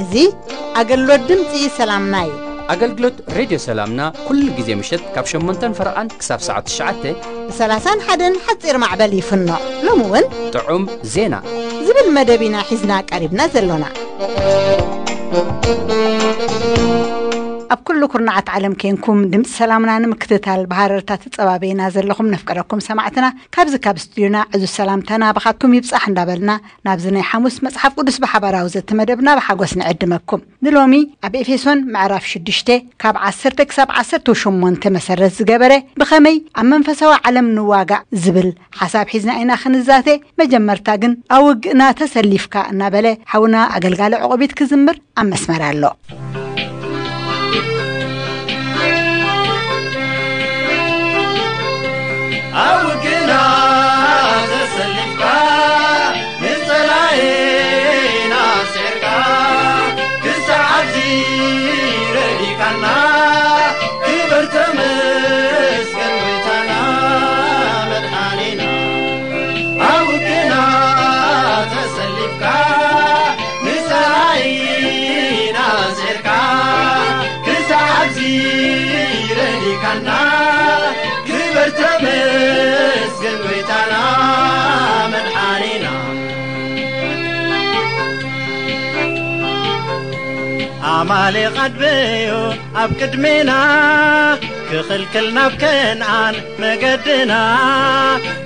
እዚ ኣገልግሎት ድምፂ ሰላምና እዩ። ኣገልግሎት ሬድዮ ሰላምና ኩሉ ግዜ ምሸት ካብ ሸሞንተን ፈረቓን ክሳብ ሰዓት ትሽዓተ ብ30ን ሓደን ሓፂር ማዕበል ይፍኖ። ሎሚ እውን ጥዑም ዜና ዝብል መደብ ኢና ሒዝና ቀሪብና ዘሎና። ኣብ ኩሉ ኩርናዓት ዓለም ኬንኩም ድምፂ ሰላምና ንምክትታል ብሃረርታ ትፀባበዩና ዘለኹም ነፍቀረኩም ሰማዕትና፣ ካብዚ ካብ ስቱዲዮና ዕዙዝ ሰላምታና ብኻትኩም ይብፃሕ እንዳበልና፣ ናብዚ ናይ ሓሙስ መፅሓፍ ቅዱስ ብሓባራዊ ዘተ መደብና ብሓጎስ ንዕድመኩም። ንሎሚ ኣብ ኤፌሶን ምዕራፍ ሽዱሽተ ካብ ዓሰርተ ክሳብ ዓሰርተ ሸሞንተ መሰረት ዝገበረ፣ ብኸመይ ኣብ መንፈሳዊ ዓለም ንዋጋእ ዝብል ሓሳብ ሒዝና ኢና ክንዛተ። መጀመርታ ግን ኣብ ውግእና ተሰሊፍካ እናበለ ሓውና ኣገልጋሊ ዕቑቢት ክዝምር ኣብ መስመር ኣሎ። ኣብ ውግእና ተሰሊፍካ ንጸላኢና ስዒርካ ክሳዕ ኣብዚ ረዲካና ክብር ተመስገን ጎይታና መድሓኒና። ኣብ ውግእና ተሰሊፍካ ንጸላኢና ስዒርካ ክሳዕ ኣብዚ ረዲካና ክብር ተመስገን ጎይታና መድሓኒና። ኣማሌቕ ኣድበዮ ኣብ ቅድሜና ክኽልክል ናብ ከነኣን መገድና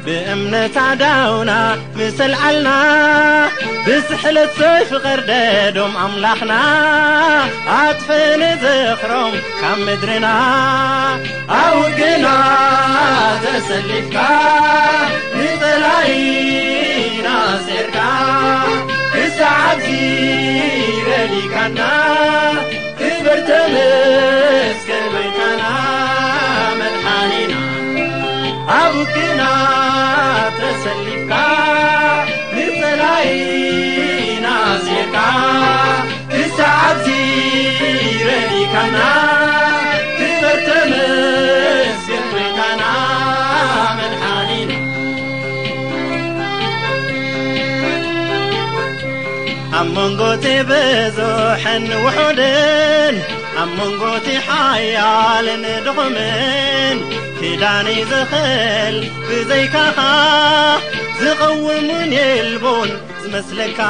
ብእምነት ኣዳውና ምስ ኣልዓልና ብስሕለት ሰይፊ ቀርደዶም ኣምላኽና ኣጥፍእ ንዝኽሮም ካብ ምድርና። ኣብ ውግእና ተሰሊፍካ ንጸላኢና ሴርካ ክሳዕ ኣብዚ ረዲካና ክብር ተመስገን ጎይታና መድሓኒና። ኣብ ውግእና ተሰሊፍካ ንጸላኢና ሴርካ ክሳዕ ኣብዚ ረዲካና ክብር ተመስገን ጎይታና መድሓኒና። ኣብ መንጎ እቲ ብዙሕን ውሑድን ኣብ መንጎ እቲ ሓያልን ድኹምን ክዳን እዩ ዝኽእል ብዘይካኻ ዝቐውምን የልቦን ዝመስለካ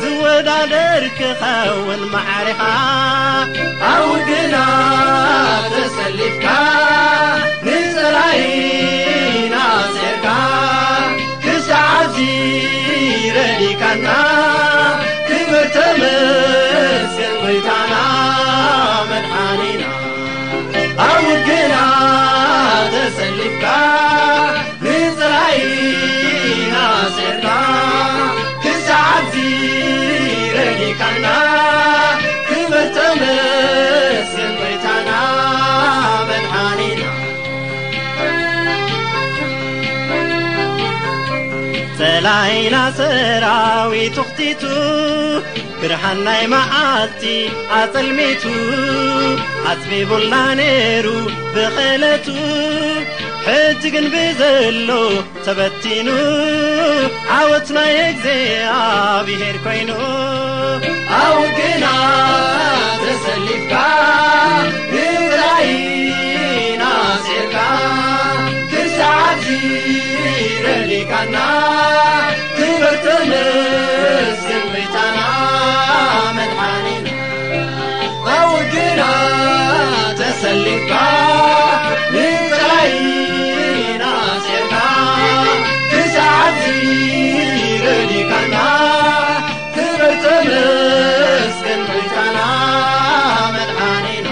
ዝወዳደር ክኸውን ማዕሪኻ ኣብ ውግና ተሰሊፍካ ንጸላኢና ሴርካ ክሳዕ ኣብዚ ረዲካና ክብር ተመስገን ጎይታና መድሓኒና። ኣብ ውግና ተሰሊፍካ ንጸላኢና ሴርካ ክሳዕ ኣብዚ ረዲካና ክብር ተመስገን ጎይታና መድሓኒና። ጸላኢና ሰራዊቱ ኽቲቱ ብርሃን ናይ መዓልቲ ኣጸልሚቱ ኣጽቢቡልና ነይሩ ብኽእለቱ ሕጂ ግን ብዘሎ ተበቲኑ ዓወት ናይ እግዚኣብሔር ኮይኑ። ኣብ ውግና ተሰሊፍካ ንጸላኢና ሴርካ ክሳዕ ኣብዚ ረዲካና ክብር ተመስገን ጎይታና መድሓኒና። ኣብ ውግና ተሰሊፍካ ንጸላኢና ሴርካ ክሳዕ ኣብዚ ረዲካና ክብር ተመስገን ጎይታና መድሓኒና።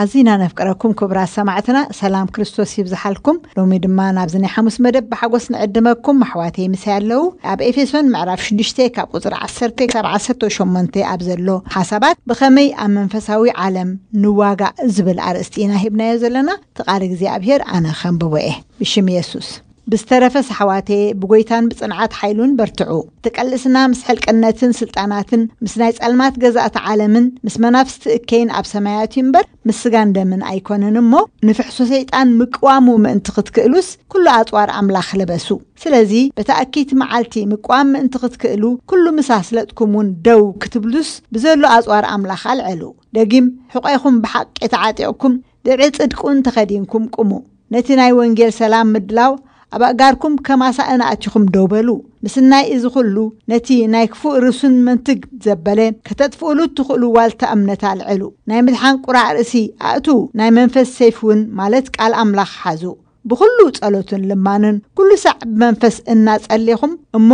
ኣዚና ነፍቅረኩም ክቡራት ሰማዕትና፣ ሰላም ክርስቶስ ይብዝሓልኩም። ሎሚ ድማ ናብዚ ናይ ሓሙስ መደብ ብሓጎስ ንዕድመኩም። ኣሕዋተይ ምሳይ ኣለዉ። ኣብ ኤፌሶን ምዕራፍ ሽዱሽተ ካብ ቁጽሪ ዓሰርተ ክሳብ ዓሰርተ ሸሞንተ ኣብ ዘሎ ሓሳባት ብኸመይ ኣብ መንፈሳዊ ዓለም ንዋጋእ ዝብል ኣርእስቲ ኢና ሂብናዮ ዘለና። እቲ ቃል እግዚኣብሔር ኣነ ከንብቦ እየ። ብሽም የሱስ። ብዝተረፈ ኣሕዋተየ ብጎይታን ብጽንዓት ሓይሉን በርትዑ። እቲ ቀልስና ምስ ሕልቅነትን ስልጣናትን ምስ ናይ ጸልማት ገዛእቲ ዓለምን ምስ መናፍስቲ እከይን ኣብ ሰማያት እዩ እምበር ምስ ስጋን ደምን ኣይኮነን እሞ ንፍሕሶ ሰይጣን ምቅዋሙ ምእንቲ ክትክእሉስ ኩሉ ኣጽዋር ኣምላኽ ልበሱ። ስለዚ በታ እኪይቲ መዓልቲ ምቅዋም ምእንቲ ክትክእሉ ኩሉ ምስ ኣስለጥኩም እውን ደው ክትብሉስ ብዘሎ ኣጽዋር ኣምላኽ ኣልዕሉ። ደጊም ሕቆይኹም ብሓቂ ተዓጢቕኩም ድዒ ጽድቁን ተኸዲንኩም ቁሙ። ነቲ ናይ ወንጌል ሰላም ምድላው ኣብ ኣእጋርኩም ከም ኣሳእን ኣእቲኹም ደው በሉ። ምስናይ እዚ ኩሉ ነቲ ናይ ክፉእ ርእሱን መንትግ ዘበለ ከተጥፍኡሉ እትኽእሉ ዋልታ እምነት ኣልዕሉ። ናይ ምድሓን ቁራዕ ርእሲ ኣእቱ፣ ናይ መንፈስ ሰይፍ እውን ማለት ቃል ኣምላኽ ሓዙ። ብኹሉ ጸሎትን ልማንን ኩሉ ሳዕ ብመንፈስ እናጸሌኹም እሞ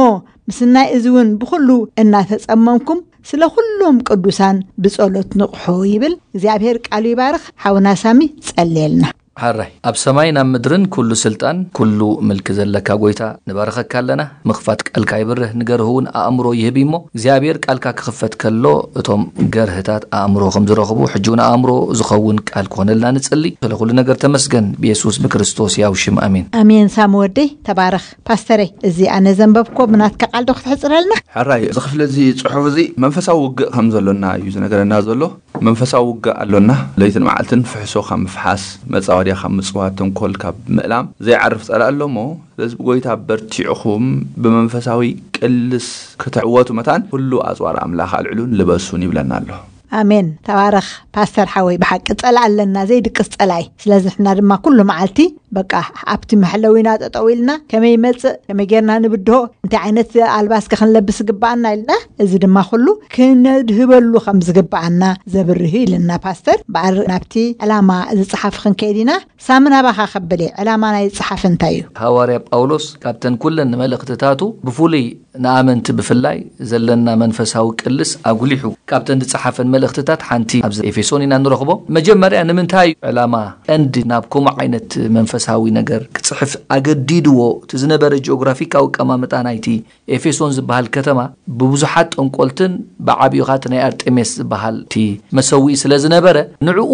ምስናይ እዚ እውን ብኹሉ እናተጸመምኩም ስለ ኩሎም ቅዱሳን ብጸሎት ንቕሑ ይብል። እግዚኣብሔር ቃሉ ይባርኽ። ሓውና ሳሚ ጸልየልና። ሓራይ ኣብ ሰማይን ኣብ ምድርን ኩሉ ስልጣን ኩሉ ምልኪ ዘለካ ጎይታ ንባርኸካ ኣለና። ምኽፋት ቃልካ ይብርህ ንገርህ እውን ኣእምሮ ይህብ እሞ እግዚኣብሔር ቃልካ ክኽፈት ከሎ እቶም ገርህታት ኣእምሮ ከም ዝረኽቡ ሕጂ እውን ኣእምሮ ዝኸውን ቃል ክኾነልና ንጽሊ። ስለ ኩሉ ነገር ተመስገን ብየሱስ ብክርስቶስ ያው ሽም ኣሜን። ኣሜን። ሳሚ ወደይ ተባረኽ። ፓስተረይ እዚ ኣነ ዘንበብኮ ብናትካ ቃል ዶ ክትሕጽረልና? ሕራይ እዚ ክፍሊ እዚ ጽሑፍ እዚ መንፈሳዊ ውግእ ከም ዘሎና እዩ ዝነገረና ዘሎ። መንፈሳዊ ውግእ ኣሎና። ለይትን መዓልትን ፍሕሶ ካብ ምፍሓስ፣ መጻወድያ ካብ ምጽዋት፣ ተንኮል ካብ ምእላም ዘይዓርፍ ጸላእ ኣሎ እሞ ስለዚ ብጎይታ በርቲዕኹም ብመንፈሳዊ ቅልስ ክትዕወቱ መታን ኩሉ ኣጽዋር ኣምላኽ ኣልዕሉን ልበሱን ይብለና ኣሎ። ኣሜን። ተባረኽ ፓስተር ሓወይ። ብሓቂ ጸላእ ኣለና ዘይድቅስ ጸላኢ። ስለዚ ንሕና ድማ ኩሉ መዓልቲ በቃ ኣብቲ መሕለዊና ጠጠው ኢልና ከመይ ይመጽእ ከመይ ጌርና ንብድሆ እንታይ ዓይነት ኣልባስ ከ ክንለብስ ይግባኣና ኢልና እዚ ድማ ኩሉ ክነድህበሉ ከም ዝግባኣና ዘብርህ ኢልና ፓስተር። በኣር ናብቲ ዕላማ ዝጸሓፍ ክንከይድ ኢና። ሳምን ኣባኻ ከብል እየ ዕላማ ናይ ዝጸሓፍ እንታይ እዩ? ሃዋርያ ጳውሎስ ካብተን ኩለን መልእኽትታቱ ብፍሉይ ንኣመንቲ ብፍላይ ዘለና መንፈሳዊ ቅልስ ኣጉሊሑ ካብተን ዝጸሓፈን መልእኽትታት ሓንቲ ኣብዚ ኤፌሶን ኢና ንረኽቦ። መጀመርያ ንምንታይ እዩ ዕላማ ቀንዲ ናብ ከምኡ ዓይነት መንፈሳዊ ነገር ክጽሕፍ ኣገዲድዎ? እቲ ዝነበረ ጂኦግራፊካዊ ኣቀማምጣ ናይቲ ኤፌሶን ዝበሃል ከተማ ብብዙሓት ጠንቆልትን ብዓቢኡ ኻቲ ናይ ኣርጤሜስ ዝበሃል እቲ መሰዊኢ ስለ ዝነበረ ንዕኡ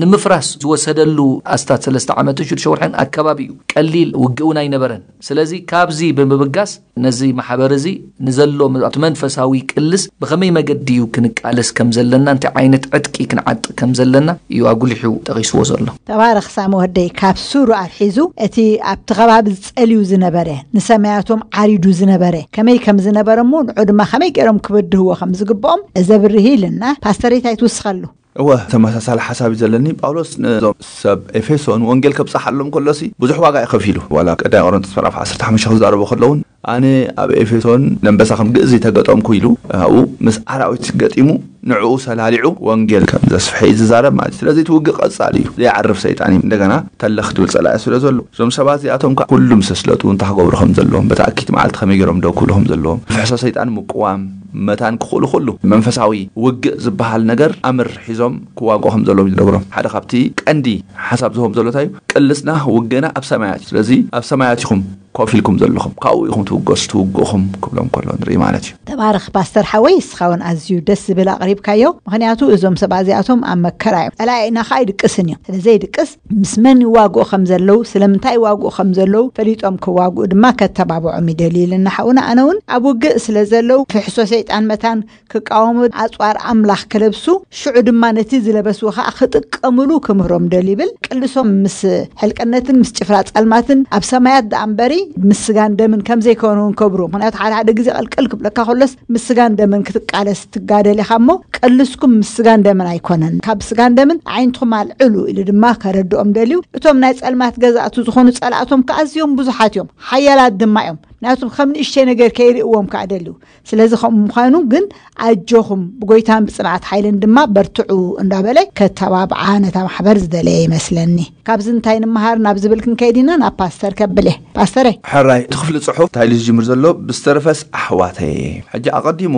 ንምፍራስ ዝወሰደሉ ኣስታት ሰለስተ ዓመትን ሽዱሽተ ወርሕን ኣከባቢ እዩ። ቀሊል ውግእ እውን ኣይነበረን። ስለዚ ካብዚ ብምብጋስ ነዚ ማሕበር እዚ ንዘሎ ኣብቲ መንፈሳዊ ቅልስ ብኸመይ መገዲ እዩ ክንቃለስ ከም ዘለና እንታይ ዓይነት ዕጥቂ ክንዓጥቅ ከም ዘለና እዩ ኣጉሊሑ ጠቂስዎ ዘሎ። ተባረኽ ሳሚ ወደይ። ካብ ሱሩ ኣትሒዙ እቲ ኣብቲ ከባቢ ዝጸልዩ ዝነበረ ንሰማያቶም ዓሪዱ ዝነበረ ከመይ ከም ዝነበረ እሞ ንዑ ድማ ከመይ ገይሮም ክብድህዎ ከም ዝግብኦም ዘብርህ ኢልና ፓስተር እንታይ ትውስኸሉ? እወ ተመሳሳሊ ሓሳብ እዩ ዘለኒ። ጳውሎስ ነዞም ሰብ ኤፌሶን ወንጌል ከብጽሓሎም ከሎሲ ብዙሕ ዋጋ እዩ ከፊሉ። ዋላ ቀዳይ ቆሮንቶስ ምዕራፍ ዓሰርተ ሓሙሽተ ክዛረቦ ከለውን ኣነ ኣብ ኤፌሶን ነንበሳ ከም ግእዚ ተገጠምኩ ኢሉ ኣብኡ ምስ ኣራዊት ገጢሙ ንዕኡ ሰላሊዑ ወንጌል ከም ዘስፍሐ እዩ ዝዛረብ ማለት እዩ። ስለዚ እቲ ውግእ ቀጻሊ እዩ። ዘይዓርፍ ሰይጣን እዩ። እንደገና ተለኽ ትብል ጸላኢ ስለ ዘሎ እዞም ሰባት እዚኣቶም ከዓ ኩሉ ምስ ኣስለጡ እንታይ ክገብሩ ከም ዘለዎም በታ ኣኪት መዓልቲ ከመይ ገይሮም ደው ክብሉ ከም ዘለዎም ፍሕሶ ሰይጣን ምቅዋም መታን ክኽእሉ ኩሉ መንፈሳዊ ውግእ ዝበሃል ነገር ኣምር ሒዞም ክዋግኡ ከም ዘለዎም ይነግሮም። ሓደ ካብቲ ቀንዲ ሓሳብ ዝህቦም ዘሎ እንታይ እዩ? ቅልስና ውግእና ኣብ ሰማያት እዩ። ስለዚ ኣብ ሰማያት ኢኹም ኮፍ ኢልኩም ዘለኹም ካብኡ ኢኹም ትውገሱ ትውግእኹም ክብሎም ከሎ ንርኢ ማለት እዩ። ተባረኽ ፓስተር ሓወይ። እስኻ እውን ኣዝዩ ደስ ዝብል ኣቕሪብካዮ። ምኽንያቱ እዞም ሰባት እዚኣቶም ኣብ መከራ እዮም። ጸላኢና ከዓ ኣይድቅስን እዮም። ስለ ዘይድቅስ ምስ መን ይዋግኡ ከም ዘለዉ ስለምንታይ ይዋግኡ ከም ዘለዉ ፈሊጦም ክዋግኡ ድማ ከተባብዖም ይደልዩ ኢልና ሓውና። ኣነ እውን ኣብ ውግእ ስለ ዘለዉ ፍሕሶ ሰይጣን መታን ክቃወሙ ኣጽዋር ኣምላኽ ክለብሱ ሽዑ ድማ ነቲ ዝለበስዎ ከዓ ክጥቀምሉ ክምህሮም ደልዩ ይብል። ቅልሶም ምስ ሕልቅነትን ምስ ጭፍራ ጸልማትን ኣብ ሰማያት ደኣ እምበሪ ምስ ስጋን ደምን ከም ዘይኮኑ እውን ከብሩ። ምኽንያቱ ሓደ ሓደ ግዜ ቅልቅል ክብለካ ከሎስ ምስ ስጋን ደምን ክትቃለስ ትጋደል ኢኻ እሞ ቅልስኩም ምስ ስጋን ደምን ኣይኮነን። ካብ ስጋን ደምን ኣዒንትኹም ኣልዕሉ ኢሉ ድማ ከረድኦም ደልዩ። እቶም ናይ ጸልማት ገዛእቱ ዝኾኑ ጸላእቶም ከዓ ኣዝዮም ብዙሓት እዮም፣ ሓያላት ድማ እዮም። ምክንያቱም ከም ንእሽተይ ነገር ከይርእዎም ከዓ ደልዩ። ስለዚ ከምኡ ምዃኑ ግን ኣጆኹም ብጎይታን ብጽንዓት ሓይልን ድማ በርትዑ እንዳበለ ከተባብዓ ነታ ማሕበር ዝደለየ ይመስለኒ። ካብዚ እንታይ ንምሃር ናብ ዝብል ክንከይድ ኢና። ናብ ፓስተር ከብለ። ፓስተረ። ሕራይ እቲ ክፍሊ ጽሑፍ እንታይ ኢሉ ዝጅምር ዘሎ ብዝተረፈስ ኣሕዋተየ። ሕጂ ኣቐዲሙ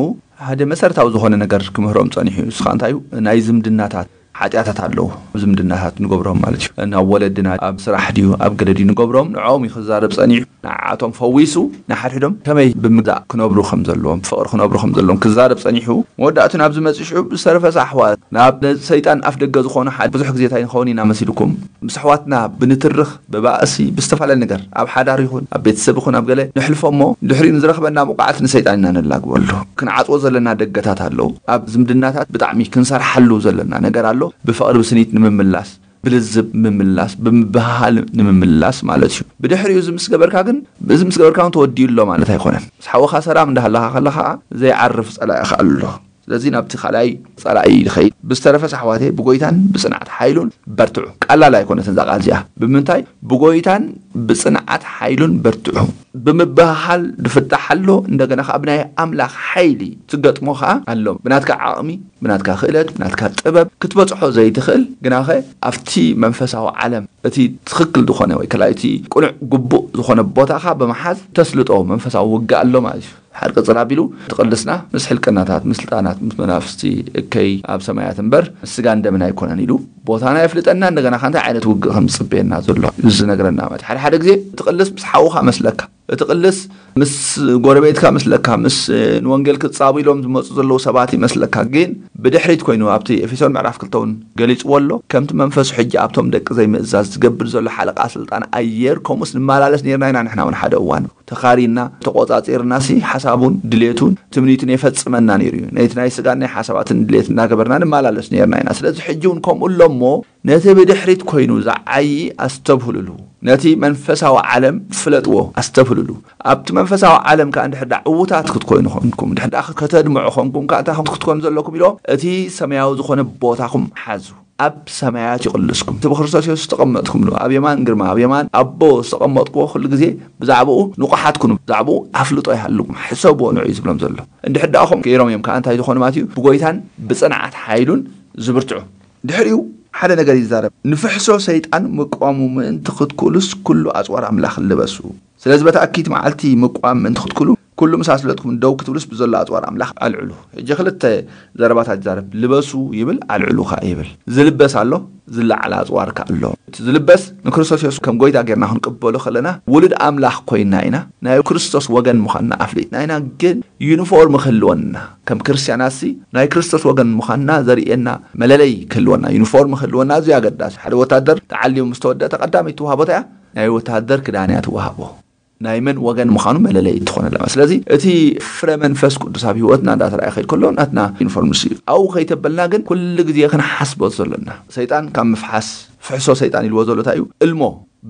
ሓደ መሰረታዊ ዝኾነ ነገር ክምህሮም ጸኒሑ እዩ። ንስኻ እንታይ እዩ ናይ ዝምድናታት ሓጢኣታት ኣለዉ። ዝምድናታት ንገብሮም ማለት እዩ። ናብ ወለድና ኣብ ስራሕ ድዩ ኣብ ገለ ድዩ ንገብሮም ንዕኦም እዩ ክዛረብ ጸኒሑ። ንዓቶም ፈዊሱ ንሓድሕዶም ከመይ ብምግዛእ ክነብሩ ከም ዘለዎም፣ ፍቕሪ ክነብሩ ከም ዘለዎም ክዛረብ ጸኒሑ። መወዳእቱ ናብ ዝመጽእ ሽዑ ብዝተረፈ ኣሕዋት ናብ ሰይጣን ኣፍ ደገ ዝኾኑ ሓደ ብዙሕ ግዜ እንታይ ንኸውን ኢና መሲልኩም? ምስ ኣሕዋትና ብንትርኽ፣ ብባእሲ፣ ብዝተፈላለየ ነገር ኣብ ሓዳር ይኹን ኣብ ቤተሰብ ይኹን ኣብ ገለ ንሕልፎ እሞ ድሕሪኡ ንዝረኽበና ብቕዓት ንሰይጣን ኢና ነላግበሉ። ክንዓጽዎ ዘለና ደገታት ኣለዉ። ኣብ ዝምድናታት ብጣዕሚ ክንሰርሓሉ ዘለና ነገር ኣሎ። ብፍቕሪ ብስኒት ንምምላስ፣ ብልዝብ ምምላስ፣ ብምብህሃል ንምምላስ ማለት እዩ። ብድሕሪኡ እዚ ምስ ገበርካ ግን፣ እዚ ምስ ገበርካ እውን ተወዲኡ ኣሎ ማለት ኣይኮነን። ምስ ሓውኻ ሰላም እንዳሃለኻ ከለኻ ዘይዓርፍ ጸላኢኻ ኣሎ። ስለዚ ናብቲ ካልኣይ ጸላኢ ይኸይድ። ብዝተረፈስ ኣሕዋተይ ብጎይታን ብጽንዓት ሓይሉን በርትዑ። ቀላል ኣይኮነትን እዛ ቃል እዚኣ። ብምንታይ? ብጎይታን ብጽንዓት ሓይሉን በርትዑ። ብምብህሃል ድፍታሕ ኣሎ፣ እንደገና ከኣ ብናይ ኣምላኽ ሓይሊ ትገጥሞ ከኣ ኣሎ። ብናትካ ዓቕሚ፣ ብናትካ ክእለት፣ ብናትካ ጥበብ ክትበጽሖ ዘይትኽእል፣ ግናኸ ኣብቲ መንፈሳዊ ዓለም እቲ ትኽክል ዝኾነ ወይ ከላ እቲ ቅኑዕ ግቡእ ዝኾነ ቦታኻ ብምሓዝ ተስልጦ መንፈሳዊ ውግእ ኣሎ ማለት እዩ። ሓድ ቅጽል ኣቢሉ ትቕልስና ምስ ሕልቅናታት፣ ምስ ስልጣናት፣ ምስ መናፍስቲ እከይ ኣብ ሰማያት እምበር ምስ ስጋን ደምን ኣይኮነን ኢሉ ቦታና የፍልጠና። እንደገና ከ እንታይ ዓይነት ውግእ ከም ዝጽበየና ዘሎ እዩ ዝነግረና ማለት እዩ። ሓደ ሓደ ግዜ ትቕልስ ምስ ሓውኻ መስለካ፣ እቲ ቅልስ ምስ ጎረቤትካ መስለካ፣ ምስ ንወንጌል ክጻቡ ኢሎም ዝመጹ ዘለዉ ሰባት ይመስለካ። ግን ብድሕሪት ኮይኑ ኣብቲ ኤፌሶን ምዕራፍ ክልተ እውን ገሊጽዎ ኣሎ። ከምቲ መንፈሱ ሕጂ ኣብቶም ደቂ ዘይምእዛዝ ዝገብር ዘሎ ሓለቓ ስልጣን ኣየር ከምኡስ ንመላለስ ነርና ኢና። ንሕና እውን ሓደ እዋን ተኻሪና ተቖጻጺርናሲ ሓሳቡን ድሌቱን ትምኒቱን የፈጽመና ነይሩ እዩ። ነቲ ናይ ስጋን ናይ ሓሳባትን ድሌት እናገበርና ንመላለስ ነርና ኢና። ስለዚ ሕጂ እውን ከምኡ ኣሎ እሞ ነቲ ብድሕሪት ኮይኑ ዝዓዪ ኣስተብህሉሉ። ነቲ መንፈሳዊ ዓለም ፍለጥዎ፣ ኣስተብህሉሉ። ኣብቲ መንፈሳዊ ዓለም ከኣ እንድሕር ደኣ ዕዉታት ክትኮይኑ ኾንኩም፣ እንድሕር ደኣ ከተድምዑ ኾንኩም ከኣ እንታይ ኹም ክትኮኑ ዘለኩም ኢሎ፣ እቲ ሰማያዊ ዝኾነ ቦታኹም ሓዙ። ኣብ ሰማያት ይቕልስኩም። እቲ ብክርስቶስ የሱስ ዝተቐመጥኩምሉ፣ ኣብ የማን ግርማ፣ ኣብ የማን ኣቦ ዝተቐመጥኩዎ ኩሉ ግዜ ብዛዕባኡ ንቑሓት ኩኑ፣ ብዛዕባኡ ኣፍልጦ ይሃልኩም፣ ሕሰብዎ ንዑ እዩ ዝብሎም ዘሎ። እንድሕር ደኣ ኹም ገይሮም እዮም ከኣ እንታይ ዝኾኑ ማለት እዩ? ብጎይታን ብጽንዓት ሓይሉን ዝብርትዑ። ድሕሪኡ ሓደ ነገር ይዛረብ። ንፍሕሶ ሰይጣን ምቋሙ ምእንቲ ክትክእሉስ ኩሉ ኣጽዋር ኣምላኽ ልበሱ። ስለዚ በታ እኪት መዓልቲ ምቋም ምእንቲ ክትክእሉ ኩሉ ምስ ኣስለጥኩም ደው ክትብሉስ ብዘሎ ኣጽዋር ኣምላኽ ኣልዕሉ። ሕጂ ክልተ ዘረባታት ይዛረብ። ልበሱ ይብል፣ ኣልዕሉ ከኣ ይብል። ዝልበስ ኣሎ፣ ዝለዓል ኣጽዋር ከኣ ኣሎ። እቲ ዝልበስ ንክርስቶስ የሱስ ከም ጎይታ ጌርና ክንቅበሎ ከለና ውሉድ ኣምላኽ ኮይና ኢና። ናይ ክርስቶስ ወገን ምዃንና ኣፍሊጥና ኢና። ግን ዩኒፎርም ክህልወና፣ ከም ክርስትያናትሲ ናይ ክርስቶስ ወገን ምዃንና ዘርእየና መለለይ ክህልወና፣ ዩኒፎርም ክህልወና ኣዝዩ ኣገዳሲ። ሓደ ወታደር ተዓልዩ ምስ ተወደአ ቀዳመይቲ ትወሃቦ እንታይ እያ? ናይ ወታደር ክዳን እያ ትወሃቦ። ናይ መን ወገን ምዃኑ መለለይ ትኾነላ። ስለዚ እቲ ፍረ መንፈስ ቅዱስ ኣብ ህይወትና እንዳተረኣየ ከይድ ከሎ ናትና ዩኒፎርም ንሱ እዩ። ኣብኡ ከይተበልና ግን ኩሉ ግዜ ክንሓስቦ ዘሎና፣ ሰይጣን ካብ ምፍሓስ፣ ፍሕሶ ሰይጣን ኢልዎ ዘሎ እንታይ እዩ? እልሞ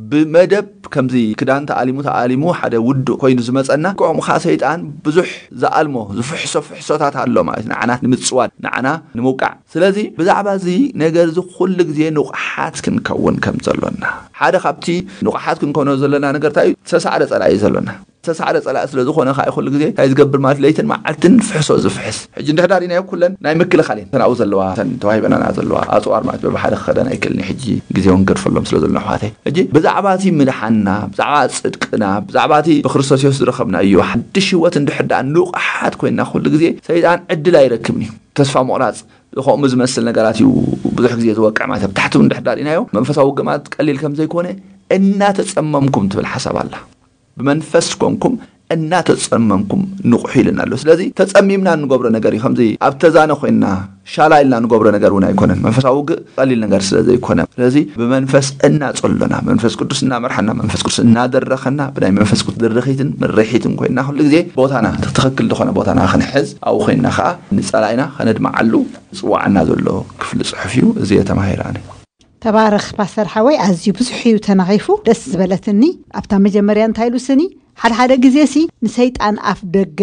ብመደብ ከምዚ ክዳን ተኣሊሙ ተኣሊሙ ሓደ ውዱእ ኮይኑ ዝመጸና፣ ከምኡ ኸዓ ሰይጣን ብዙሕ ዝኣልሞ ዝፍሕሶ ፍሕሶታት ኣሎ ማለት እዩ። ንዓና ንምጽዋድ፣ ንዓና ንምውቃዕ። ስለዚ ብዛዕባ እዚ ነገር እዚ ኩሉ ግዜ ንቑሓት ክንከውን ከም ዘሎና፣ ሓደ ካብቲ ንቑሓት ክንኮኖ ዘለና ነገር እንታይ እዩ? ዝተሳዕረ ጸላኢ እዩ ዘሎና። ዝተሳዕረ ጸላኢ ስለ ዝኾነ ከዓ ኩሉ ግዜ እንታይ ዝገብር ማለት ለይትን መዓልትን ፍሕሶ ዝፍሕስ። ሕጂ እንድሕር ዳሪናዮ ኩለን ናይ ምክልኻል እየን። እተን ኣብኡ ዘለዋ፣ እተን ተዋሂበናና ዘለዋ ኣጽዋር ማለት በብሓደ ክኸደን ኣይክእልን። ሕጂ ግዜ እውን ገድፈሎም ስለ ዘሎ ኣሕዋተይ። ሕጂ ብዛዕባ እቲ ምድሓንና፣ ብዛዕባ ጽድቅና፣ ብዛዕባ እቲ ብክርስቶስ የሱስ ዝረኸብናዮ ሓድሽ ህይወት እንድሕር ደኣ ንቑሓት ኮይንና ኩሉ ግዜ ሰይጣን ዕድል ኣይረክብን እዩ። ተስፋ ምቑራጽ፣ ከምኡ ዝመስል ነገራት እዩ ብዙሕ ግዜ ዝወቅዕ ማለት እዩ። ኣብ ታሕቲ እውን እንድሕር ዳሪናዮ መንፈሳዊ ውግእ ማለት ቀሊል ከም ዘይኮነ እናተጸመምኩም ትብል ሓሳብ ኣላ። ብመንፈስ ኮንኩም እናተጸመምኩም ንቑሑ ኢልና ኣሎ። ስለዚ ተጸሚምና እንገብሮ ነገር እዩ። ከምዚ ኣብ ተዛነ ኮይንና ሻላ ኢልና ንገብሮ ነገር እውን ኣይኮነን። መንፈሳዊ ውግእ ቀሊል ነገር ስለ ዘይኮነ፣ ስለዚ ብመንፈስ እናጸሎና፣ መንፈስ ቅዱስ እናመርሓና፣ መንፈስ ቅዱስ እናደረኸና፣ ብናይ መንፈስ ቅዱስ ድርኺትን ምርሒትን ኮይንና ኩሉ ግዜ ቦታና፣ ትኽክል ዝኾነ ቦታና ክንሕዝ፣ ኣብኡ ኮይንና ከዓ ንጸላኢና ከነድምዓሉ ዝጽውዓና ዘሎ ክፍሊ ጽሑፍ እዩ። እዚ እየ ተማሂረ ኣነ። ተባረኽ ፓስተር ሓወይ፣ ኣዝዩ ብዙሕ እዩ ተናኺፉ፣ ደስ ዝበለትኒ። ኣብታ መጀመርያ እንታይ ኢሉ ስኒ፣ ሓደ ሓደ ግዜ ሲ ንሰይጣን ኣፍ ደገ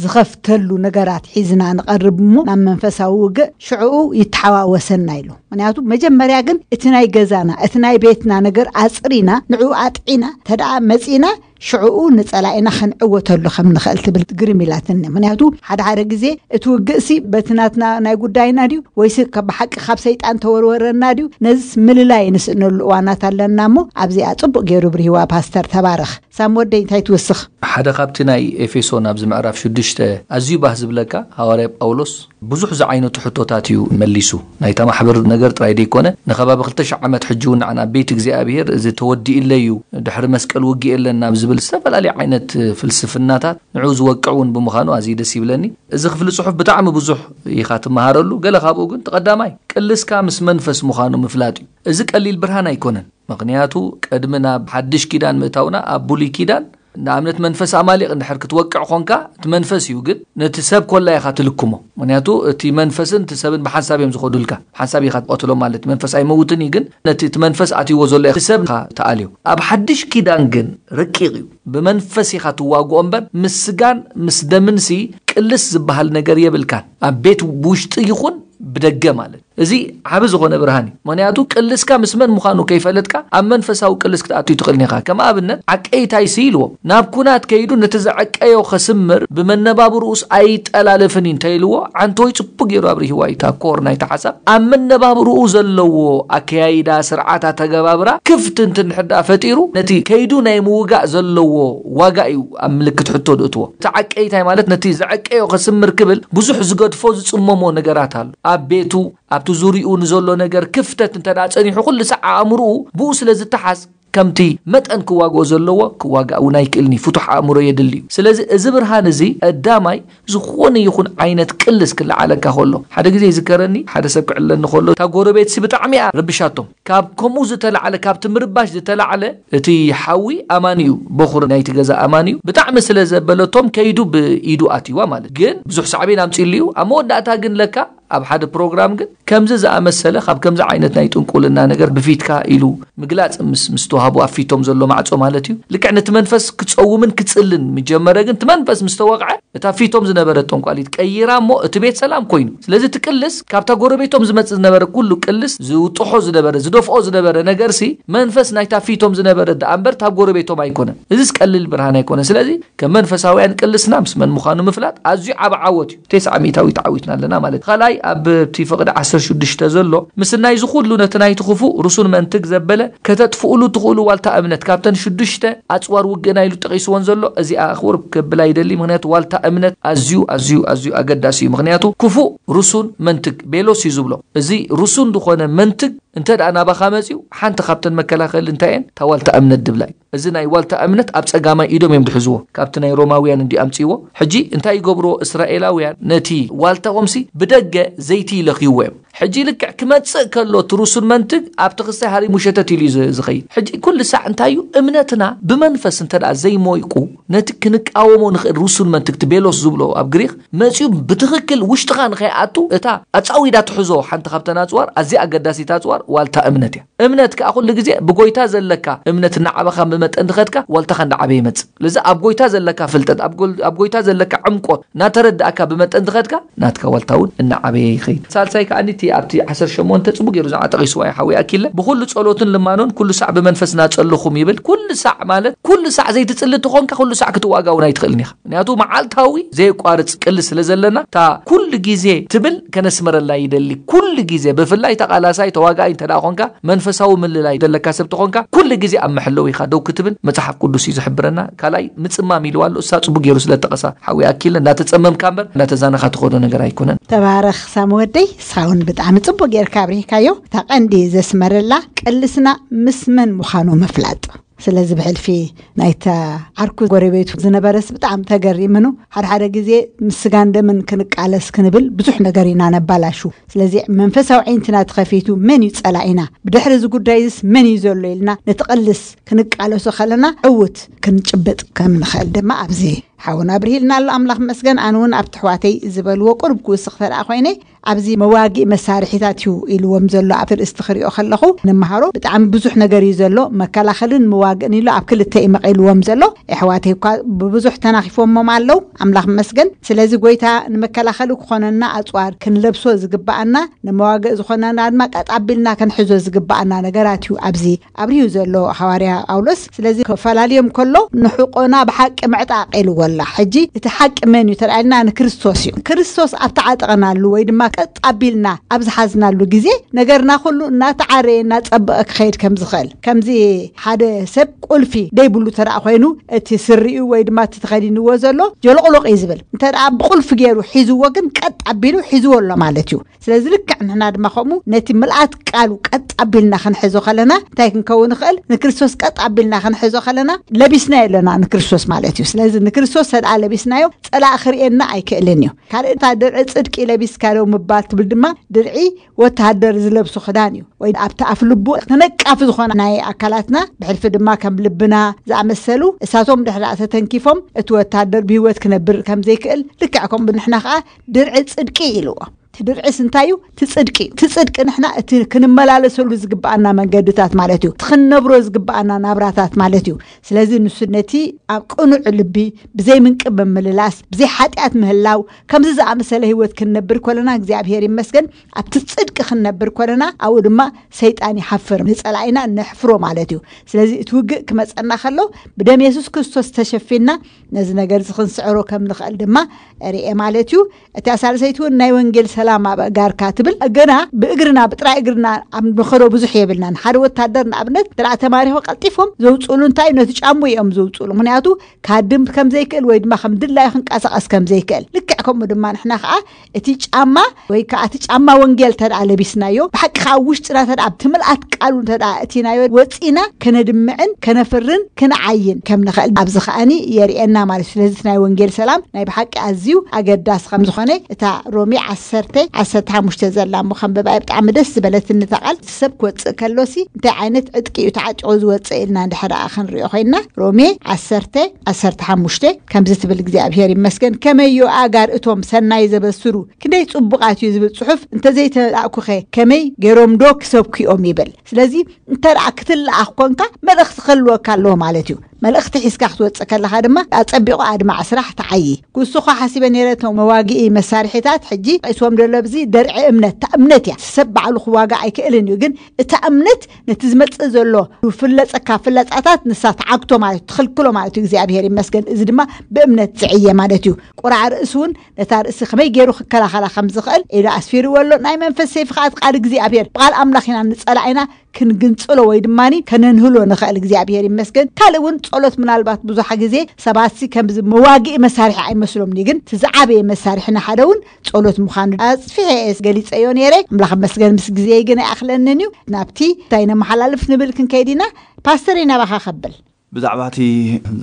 ዝኸፍተሉ ነገራት ሒዝና ንቐርብ እሞ ናብ መንፈሳዊ ውግእ ሽዕኡ ይተሓዋወሰና ኢሉ። ምክንያቱ መጀመርያ ግን እቲ ናይ ገዛና፣ እቲ ናይ ቤትና ነገር ኣጽሪና፣ ንዕኡ ኣጥዒና፣ ተደኣ መጺና ሽዕኡ ንጸላኢና ክንዕወተሉ ከም ንኽእል ትብል ግርም ኢላትኒ። ምክንያቱ ሓደ ሓደ ግዜ እቲ ውግእሲ በቲ ናትና ናይ ጉዳይና ድዩ ወይስ ካብ ብሓቂ ካብ ሰይጣን ተወርወረና ድዩ? ነዚስ ምልላይ ንስእነሉ እዋናት ኣለና እሞ ኣብዚኣ ጽቡቕ ገይሩ ብርሂዋ ፓስተር። ተባረኽ። ሳም ወደይ እንታይ ትውስኽ? ሓደ ካብቲ ናይ ኤፌሶን ኣብዚ ምዕራፍ ሽዱሽተ ሽዱሽተ ኣዝዩ ባህ ዝብለካ፣ ሃዋርያ ጳውሎስ ብዙሕ ዝዓይነቱ ሕቶታት እዩ መሊሱ። ናይታ ማሕበር ነገር ጥራይ ደይኮነ፣ ንኸባቢ ክልተ ሽሕ ዓመት ሕጂ እውን ንዓና ቤት እግዚኣብሔር እዚ ተወዲእለይ እዩ፣ ድሕሪ መስቀል ውግእ የለን ናብ ዝብል ዝተፈላለየ ዓይነት ፍልስፍናታት ንዑ ዝወቅዕ እውን ብምዃኑ ኣዝዩ ደስ ይብለኒ። እዚ ክፍሊ ጽሑፍ ብጣዕሚ ብዙሕ ኢኻ ትመሃረሉ። ገለ ካብኡ ግን፣ ተቐዳማይ ቅልስካ ምስ መንፈስ ምዃኑ ምፍላጥ እዩ። እዚ ቀሊል ብርሃን ኣይኮነን። ምኽንያቱ ቅድሚ ናብ ሓድሽ ኪዳን ምእታውና፣ ኣብ ብሉይ ኪዳን ንኣብነት መንፈስ ኣማሊቕ እንድሕር ክትወቅዕ ኾንካ፣ እቲ መንፈስ እዩ ግን ነቲ ሰብ ኮላ ኢኻ ትልክሞ። ምኽንያቱ እቲ መንፈስን እቲ ሰብን ብሓንሳብ እዮም ዝኸዱልካ። ሓንሳብ ኢኻ ትቐትሎ ማለት መንፈስ ኣይመውትን እዩ፣ ግን ነቲ እቲ መንፈስ ኣትይዎ ዘሎ እቲ ሰብ ኢኻ ትኣልዮ። ኣብ ሓድሽ ኪዳን ግን ረቂቕ እዩ። ብመንፈስ ኢኻ ትዋግኦ እምበር ምስ ስጋን ምስ ደምንሲ ቅልስ ዝበሃል ነገር የብልካን። ኣብ ቤት ውሽጢ ይኹን ብደገ ማለት እዚ ዓቢ ዝኾነ ብርሃን እዩ። ምኽንያቱ ቅልስካ ምስ መን ምዃኑ ከይፈለጥካ ኣብ መንፈሳዊ ቅልስ ክትኣቱ ትኽእል ኢኻ። ከም ኣብነት ዓቀይታይሲ ኢልዎ፣ ናብ ኩናት ከይዱ ነቲ ዘዐቀዮ ከስምር ብመነባብርኡስ ኣይጠላልፍን እዩ እንተኢልዎ፣ ዓንተወይ ጽቡቅ ገይሩ ኣብሪህዋ እዩ። እታ ኮር ናይቲ ሓሳብ ኣብ መነባብርኡ ዘለዎ ኣከያይዳ፣ ስርዓት ኣተገባብራ ክፍት እንትን ሕዳ ፈጢሩ ነቲ ከይዱ ናይ ምውጋእ ዘለዎ ዋጋ እዩ ኣብ ምልክት ሕቶ ድእትዎ። እቲ ዓቀይታይ ማለት ነቲ ዘዐቀዮ ከስምር ክብል ብዙሕ ዝገድፎ ዝጽመሞ ነገራት ኣሎ። ኣብ ቤቱ፣ ኣብቲ ዙሪኡ ንዘሎ ነገር ክፍተት እንተ ደኣ ጸኒሑ፣ ኩሉ ሳዕ ኣእምርኡ ብኡ ስለ ዝተሓዝ፣ ከምቲ መጠን ክዋግኦ ዘለዎ ክዋጋእ እውን ኣይክእልን እዩ። ፍቱሕ ኣእምሮ የድሊ እዩ። ስለዚ እዚ ብርሃን እዚ ቀዳማይ ዝኾነ ይኹን ዓይነት ቅልስ ክለዓለካ ከሎ፣ ሓደ ግዜ ይዝከረኒ፣ ሓደ ሰብ ክዕለኒ ከሎ፣ እታ ጎረቤትሲ ብጣዕሚ እያ ረብሻቶም። ካብ ከምኡ ዝተላዕለ፣ ካብቲ ምርባሽ ዝተላዕለ፣ እቲ ሓዊ ኣማን እዩ፣ በኹር ናይቲ ገዛ ኣማን እዩ። ብጣዕሚ ስለ ዘበለቶም ከይዱ ብኢዱ ኣትይዋ ማለት። ግን ብዙሕ ሳዕቤን ኣምጺእሉ እዩ። ኣብ መወዳእታ ግን ለካ ኣብ ሓደ ፕሮግራም ግን ከምዚ ዝኣመሰለ፣ ካብ ከምዚ ዓይነት ናይ ጥንቁልና ነገር ብፊትካ ኢሉ ምግላጽ ምስ፣ ምስ ተዋህቡ ኣብ ፊቶም ዘሎ ማዕጾ ማለት እዩ። ልክዕ ነቲ መንፈስ ክጸውምን ክጽልን ምጀመረ፣ ግን እቲ መንፈስ ምስ ተወቕዐ እታ ፊቶም ዝነበረት ጠንቋሊት ቀይራ እሞ እቲ ቤት ሰላም ኮይኑ። ስለዚ እቲ ቅልስ ካብታ ጎረቤቶም ዝመጽእ ዝነበረ ኩሉ ቅልስ ዝውጥሖ ዝነበረ፣ ዝደፍኦ ዝነበረ ነገርሲ መንፈስ ናይታ ፊቶም ዝነበረ ደኣ እምበር እታ ጎረቤቶም ኣይኮነን። እዚስ ቀሊል ብርሃን ኣይኮነን። ስለዚ ከም መንፈሳውያን ቅልስና ምስ መን ምዃኑ ምፍላጥ ኣዝዩ ዓቢ ዓወት እዩ። ተስዓ ሚእታዊ ተዓዊትና ኣለና ማለት እዩ። ካልኣይ ኣብቲ ፍቕዲ ዓሰርተ ሽዱሽተ ዘሎ ምስናይ ዝኹሉ ነቲ ናይቲ ክፉእ ርሱን መንትግ ዘበለ ከተጥፍኡሉ ትኽእሉ ዋልታ እምነት ካብተን ሽዱሽተ ኣጽዋር ውግእና ኢሉ ጠቒስወን ዘሎ እዚኣ ክውርብ ክብል ኣይደሊ። ምኽንያቱ ዋልታ እምነት ኣዝዩ ኣዝዩ ኣዝዩ ኣገዳሲ እዩ። ምኽንያቱ ክፉእ ርሱን መንትግ ቤሎስ እዩ ዝብሎ። እዚ ርሱን ዝኾነ መንትግ እንተ ደኣ ናባኻ መጺኡ ሓንቲ ካብተን መከላኸሊ እንታይ እየን? እታ ዋልታ እምነት ድብላ እዩ። እዚ ናይ ዋልታ እምነት ኣብ ጸጋማይ ኢዶም እዮም ድሕዝዎ። ካብቲ ናይ ሮማውያን እንዲ ኣምጺዎ። ሕጂ እንታይ ይገብርዎ እስራኤላውያን? ነቲ ዋልታኦምሲ ብደገ ዘይቲ ይለኽይዎ እዮም። ሕጂ ልክዕ ክመጽእ ከሎ እቲ ርሱን መንትግ ኣብቲ ክሳይ ሃሪሙ ሸተት ኢሉ እዩ ዝ-፣ ዝኸይድ። ሕጂ ኩሉ ሳዕ እንታይ እዩ? እምነትና ብመንፈስ እንተ ደኣ ዘይሞይቁ ነቲ ክንቃወሞ ንኽእል ርሱን መንትግ እቲ ቤሎስ ዝብሎ ኣብ ግሪኽ መጺኡ ብትኽክል ውሽጥኻ ንኸይኣቱ እታ ኣጻዊዳ ትሕዞ ሓንቲ ካብተን ኣጽዋር፣ ኣዝያ ኣገዳሲት ኣጽዋር ዋልታ እምነት እያ። እምነት ከኣ ኩሉ ግዜ ብጎይታ ዘለካ እምነት እናዓበኻ ብመጠን ድኸድካ ዋልታኻ እንዳዓበየ ይመጽእ። ስለዚ ኣብ ጎይታ ዘለካ ፍልጠት፣ ኣብ ጎል-፣ ኣብ ጎይታ ዘለካ ዕምቆት እናተረዳእካ ብመጠን ድኸድካ ናትካ ዋልታ እውን እናዓበየ ይኸይድ። ሳልሳይ ከኣ እቲ ኣብቲ ዓሰርተ ሸሞንተ ጽቡቅ ገይሩ ዝዓ ጠቒስዋ እዩ ሓዊ ኣኪለ። ብኩሉ ጸሎትን ልማኖን ኩሉ ሳዕ ብመንፈስ ናጸልኹም ይብል። ኩሉ ሳዕ ማለት ኩሉ ሳዕ ዘይትጽሊ ተኾንካ ኩሉ ሳዕ ክትዋጋ እውን ኣይትኽእልን ኢኻ። ምክንያቱ መዓልታዊ ዘየቋርጽ ቅልስ ስለ ዘለና፣ እታ ኩሉ ግዜ ትብል ከነስመረላ ይደሊ። ኩሉ ግዜ፣ ብፍላይ ተቓላሳይ ተዋጋኣይ እንተ ደኣ ኾንካ፣ መንፈሳዊ ምልላይ ዘለካ ሰብ ተኾንካ፣ ኩሉ ግዜ ኣብ መሐለዊ ኢኻ ደው ክትብል መጽሓፍ ቅዱስ እዩ ዝሕብረና። ካልኣይ ምጽማም ኢልዋ ኣሎ፣ እሳ ጽቡቅ ገይሩ ስለ ጠቐሳ፣ ሓዊ ኣኪለ እንዳተጸመምካ እምበር እንዳተዛነኻ ትኸዶ ነገር ኣይኮነን። ተባረኽ ሳሚ ወደይ፣ ንስኻ እውን ብጣዕሚ ጽቡቅ ጌርካ ኣብሪህካዮ። እታ ቀንዲ ዘስመረላ ቅልስና ምስ መን ምዃኑ ምፍላጥ። ስለዚ ብሕልፊ ናይታ ዓርኩ ጎረቤቱ ዝነበረስ ብጣዕሚ ተገሪምኑ። ሓደ ሓደ ግዜ ምስ ስጋን ደምን ክንቃለስ ክንብል ብዙሕ ነገር ኢና ነባላሹ። ስለዚ መንፈሳዊ ዓይንትና ተኸፊቱ መን እዩ ጸላኢና፣ ብድሕሪ እዚ ጉዳይስ መን እዩ ዘሎ ኢልና ነቲ ቅልስ ክንቃለሶ ከለና ዕውት ክንጭብጥ ከም ንኽእል ድማ ኣብዚ ሓውና ኣብርሂልና ኣሎ። ኣምላኽ መስገን። ኣነ እውን ኣብቲ ኣሕዋተይ ዝበልዎ ቁሩብ ክውስኽ ተደኣ ኮይነ፣ ኣብዚ መዋግኢ መሳርሒታት እዩ ኢልዎም ዘሎ ኣብቲ ርእስቲ ክሪኦ ከለኹ ንምሃሮ ብጣዕሚ ብዙሕ ነገር እዩ ዘሎ። መከላኸልን መዋግእን ኢሉ ኣብ ክልተ እዩ መቒልዎም ዘሎ። ኣሕዋተይ እኳ ብብዙሕ ተናኺፎሞም ኣለዉ፣ ኣምላኽ መስገን። ስለዚ ጎይታ ንመከላኸሊ ክኾነና ኣጽዋር ክንለብሶ ዝግብኣና፣ ንመዋግእ ዝኾነና ድማ ቀጥ ኣቢልና ክንሕዞ ዝግብኣና ነገራት እዩ ኣብዚ ኣብሪሁ ዘሎ ሃዋርያ ጳውሎስ። ስለዚ ክፈላልዮም ከሎ ንሕቆና ብሓቂ ምዕጣቕ ኢልዎ። ኣላ። ሕጂ እቲ ሓቂ መን እዩ ተራእልና? ንክርስቶስ እዩ። ክርስቶስ ኣብ ተዓጠቕናሉ ወይ ድማ ቀጥ ኣቢልና ኣብ ዝሓዝናሉ ግዜ ነገርና ኩሉ እናተዓረየ እናጸበቐ ክኸይድ ከም ዝኽእል፣ ከምዚ ሓደ ሰብ ቁልፊ ደይብሉ ተደኣ ኮይኑ እቲ ስሪኡ ወይ ድማ እቲ ተኸዲንዎ ዘሎ ጀሎቕሎቕ እዩ ዝብል። እንተ ደኣ ብቁልፊ ገይሩ ሒዝዎ ግን ቀጥ ኣቢሉ ሒዝዎ ኣሎ ማለት እዩ። ስለዚ ልክዕ ንሕና ድማ ከምኡ ነቲ ምልኣት ቃሉ ቀጥ ኣቢልና ክንሕዞ ከለና እንታይ ክንከውን ንኽእል? ንክርስቶስ ቀጥ ኣቢልና ክንሕዞ ከለና ለቢስናዮ ኣለና ንክርስቶስ ማለት እዩ። ስለዚ ንክርስቶስ ተደኣ ለቢስናዮ ጸላእ ክርእየና ኣይክእልን እዩ። ካልእ እታ ድርዒ ጽድቂ ለቢስካ ዶ ምባል ትብል ድማ ድርዒ ወተሃደር ዝለብሶ ክዳን እዩ። ወይ ኣብቲ ኣፍ ልቡ ተነቃፊ ዝኾነ ናይ ኣካላትና ብሕልፊ ድማ ከም ልብና ዝኣመሰሉ እሳቶም ድሕሪ ተተንኪፎም እቲ ወተሃደር ብህይወት ክነብር ከም ዘይክእል ልክዕ ከምኡ ንሕና ከዓ ድርዒ ጽድቂ ኢልዎ። እቲ ድርዒስ እንታይ እዩ? እቲ ጽድቂ እዩ። እቲ ጽድቂ ንሕና እቲ ክንመላለሰሉ ዝግብኣና መንገድታት ማለት እዩ። እቲ ክንነብሮ ዝግብኣና ናብራታት ማለት እዩ። ስለዚ ንሱ ነቲ ኣብ ቅኑዕ ልቢ ብዘይ ምንቅብ ምምልላስ ብዘይ ሓጢኣት ምህላው ከምዚ ዝኣመሰለ ህይወት ክንነብር ኮለና እግዚኣብሔር ይመስገን ኣብቲ ጽድቂ ክንነብር ኮለና ኣብኡ ድማ ሰይጣን ይሓፍር ንጸላኢና ነሕፍሮ ማለት እዩ። ስለዚ እቲ ውግእ ክመጸና ከሎ ብደም የሱስ ክርስቶስ ተሸፊና ነዚ ነገር እዚ ክንስዕሮ ከም ንኽእል ድማ ርኤ ማለት እዩ። እታ ሳልሰይቲ እውን ናይ ወንጌል ሰላም ኣብ ኣእጋርካ ትብል። ገና ብእግርና ብጥራይ እግርና ኣብ ንኸዶ ብዙሕ የብልናን። ሓደ ወታደር ንኣብነት እንተ ተማሪኹ ቀልጢፎም ዘውፅእሉ እንታይ ነቲ ጫሙ እዮም ዘውፅእሉ። ምክንያቱ ካድም ከም ዘይክእል ወይ ድማ ከም ድላዩ ክንቀሳቐስ ከም ዘይክእል ልክዕ ከምኡ ድማ ንሕና ከዓ እቲ ጫማ ወይ ከዓ እቲ ጫማ ወንጌል ተደኣ ለቢስናዮ ብሓቂ ከዓ ውሽጥና ተደኣ ኣብቲ ምልኣት ቃሉ ተደኣ እቲናዮ ወፂና ከነድምዕን ከነፍርን ክንዓይን ከም ንኽእል ኣብዚ ከዓኒ የርእየና ማለት እዩ። ስለዚ እቲ ናይ ወንጌል ሰላም ናይ ብሓቂ ኣዝዩ ኣገዳሲ ከም ዝኾነ እታ ሮሜ ዓሰርተ ዓሰርተ ሓሙሽተ ዘላ እሞ ከንብባ እየ። ብጣዕሚ ደስ ዝበለትኒ እታ ቃል። እቲ ሰብ ክወፅእ ከሎሲ እንታይ ዓይነት ዕጥቂ እዩ ተዓጢቑ ዝወፅእ ኢልና እንድሕር ደኣ ክንሪኦ ኮይንና ሮሜ ዓሰርተ ዓሰርተ ሓሙሽተ ከምዚ ትብል እግዚኣብሔር ይመስገን ከመዮ ኣጋር እቶም ሰናይ ዘበስሩ ክንደይ ጽቡቓት እዩ ዝብል ጽሑፍ እንተዘይተላእኩኸ ከመይ ገይሮም ዶ ክሰብኩ እዮም ይብል። ስለዚ እንተ ደኣ ክትለኣኽ ኮንካ መልእኽቲ ክህልወካ ኣለዎ ማለት እዩ። መልእኽቲ ሒዝካ ክትወፅእ ከለኻ ድማ ኣጸቢቑ ኣድማዕ ስራሕ ተዓዪ። ክሱ ኸ ሓሲበ ነይረ እቶም መዋግኢ መሳርሒታት ሕጂ ሒዝዎም ደሎ ኣብዚ ደርዒ እምነት እታ እምነት እያ። ሰብ ባዕሉ ክዋጋ ኣይክእልን እዩ ግን እታ እምነት ነቲ ዝመጽእ ዘሎ ፍለጸካ ፍለጻታት ንሳ ተዓግቶ ማለት እዩ፣ ትኽልክሎ ማለት እዩ እግዚኣብሔር ይመስገን። እዚ ድማ ብእምነት ዝዕየ ማለት እዩ። ቁራዕ ርእሲ እውን ነታ ርእሲ ከመይ ገይሩ ክከላኸላ ከም ዝኽእል ኢሉ ኣስፊርዎ ኣሎ። ናይ መንፈስ ሰይፊ ከዓ እቲ ቃል እግዚኣብሔር ብቃል ኣምላኽ ኢና ንጸላኢና ክንግንጽሎ ወይ ድማ ከነንህሎ ንኽእል እግዚኣብሔር ይመስገን። ካልእ እውን ጸሎት ምናልባት ብዙሓ ግዜ ሰባት ሲ ከምዚ መዋግኢ መሳርሒ ኣይመስሎም ግን እቲ ዝዓበየ መሳርሒ ንሓደ እውን ጸሎት ምዃኑ ኣጽፊሐ እየ ገሊጸዮ ነይረ። ኣምላኽ መስገን ምስ ግዜ ግን ኣይኣኽለንን እዩ። ናብቲ እንታይ ነመሓላልፍ ንብል ክንከይድ ኢና። ፓስተር ናባኻ ከብል ብዛዕባ እቲ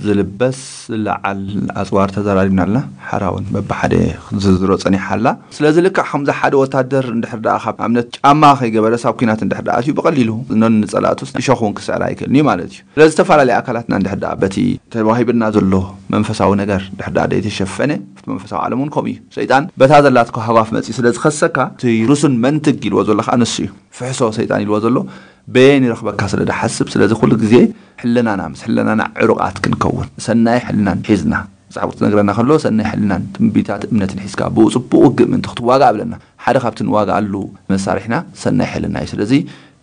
ዝልበስ ዝለዓል ኣፅዋር ተዘራሪብና ኣለና። ሓራ እውን በብሓደ ክትዝርዝሮ ፀኒሓ ኣላ። ስለዚ ልክዕ ከምዚ ሓደ ወታደር እንድሕር ደኣ ካብ ኣብነት ጫማ ከይገበረ ሳብ ኩናት እንድሕር ደኣ ኣትዩ ብቐሊሉ ነን ንፀላእቱ እሾኽ እውን ክስዕር ኣይክእልን እዩ ማለት እዩ። ስለዚ ዝተፈላለዩ ኣካላትና እንድሕር ደኣ በቲ ተዋሂብና ዘሎ መንፈሳዊ ነገር እንድሕር ደኣ ዘይተሸፈነ ኣብቲ መንፈሳዊ ዓለም እውን ከምኡ እዩ። ሰይጣን በታ ዘላትካ ሃጓፍ መፂኡ ስለ ዝኸሰካ እቲ ርሱን መንትግ ኢልዎ ዘሎ ከዓ ንሱ እዩ። ፍሕሶ ሰይጣን ኢልዎ ዘሎ በየን ይረኽበካ ስለ ዝሓስብ ስለዚ ኩሉ ግዜ ሕልናና ምስ ሕልናና ዕሩቓት ክንከውን ሰናይ ሕልናን ሒዝና መፅሓፍ ትነግረና ከሎ ሰናይ ሕልናን ትንቢታት እምነትን ሒዝካ ብኡ ፅቡቅ ውግእ ምእንቲ ክትዋጋእ ብለና ሓደ ካብቲ ንዋጋኣሉ መሳርሕና ሰናይ ሕልና እዩ። ስለዚ